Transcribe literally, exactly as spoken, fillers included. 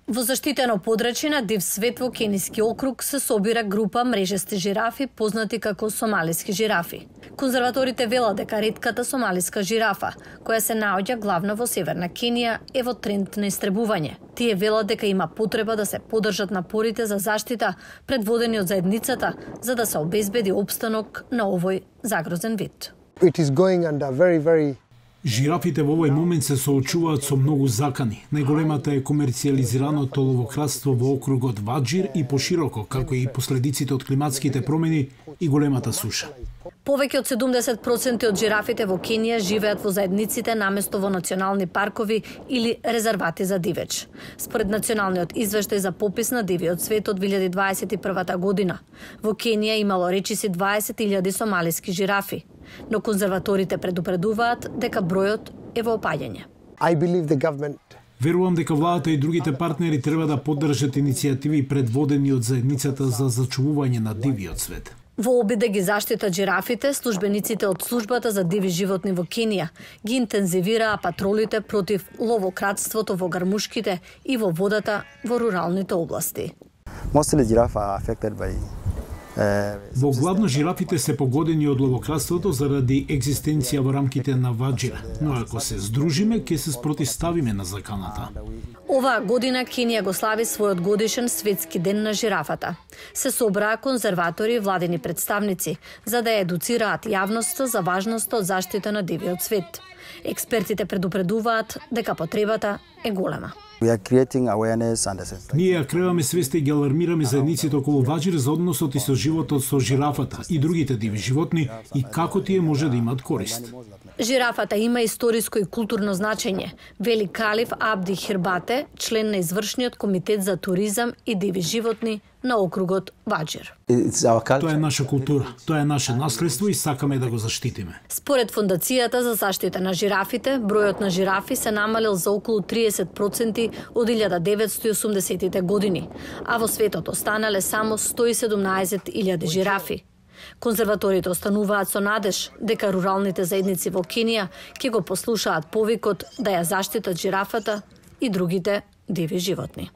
Во заштитено подрачје на Див свет во Кениски округ се собира група мрежести жирафи познати како сомалиски жирафи. Конзерваторите велат дека ретката сомалиска жирафа, која се наоѓа главно во северна Кенија, е во тренд на истребување. Тие велат дека има потреба да се подржат напорите за заштита предводени од заедницата за да се обезбеди опстанок на овој загрозен вид. It is going under very very Жирафите во овој момент се соочуваат со многу закани. Најголемата е комерцијализираното ловократство во округот Ваџир и пошироко, како и последиците од климатските промени и големата суша. Повеќе од седумдесет проценти од жирафите во Кенија живеат во заедниците наместо во национални паркови или резервати за дивеч. Според националниот извештај за попис на дивиот свет од две илјади дваесет и прва година, во Кенија имало речиси дваесет илјади сомалиски жирафи, но конзерваторите предупредуваат дека бројот е во опаѓање. I believe the government Верувам дека владата и другите партнери треба да поддржат иницијативи предводени од заедницата за зачувување на дивиот свет. Во обид да ги заштитат жирафите, службениците од службата за диви животни во Кенија ги интензивираа патролите против ловократството во гармушките и во водата во руралните области. Mostly giraffe are affected by Во главно жирафите се погодени од ловократството заради екзистенција во рамките на Ваџир, но ако се здружиме, ќе се спротивставиме на заканата. Оваа година Кенија го слави својот годишен светски ден на жирафата. Се собраа конзерватори и владени представници за да ја едуцираат јавноста за важноста од заштита на дивиот свет. Експертите предупредуваат дека потребата е голема. We are creating awareness and Ние ја креираме свеста и ги алармираме заедниците околу Ваџир за односот и со животот со жирафата и другите диви животни и како тие може да имаат корист. Жирафата има историско и културно значење, вели Калиф Абди Хирбате, член на извршниот комитет за туризам и диви животни на округот Ваџир. Тоа е наша култура, тоа е наше наследство и сакаме да го заштитиме. Според Фондацијата за заштита на жирафите, бројот на жирафи се намалил за околу триесет проценти од илјада деветстотини и осумдесетите години, а во светот останале само сто и седумнаесет илјади жирафи. Конзерваторите остануваат со надеж дека руралните заедници во Кенија ќе го послушаат повикот да ја заштитат жирафата и другите диви животни.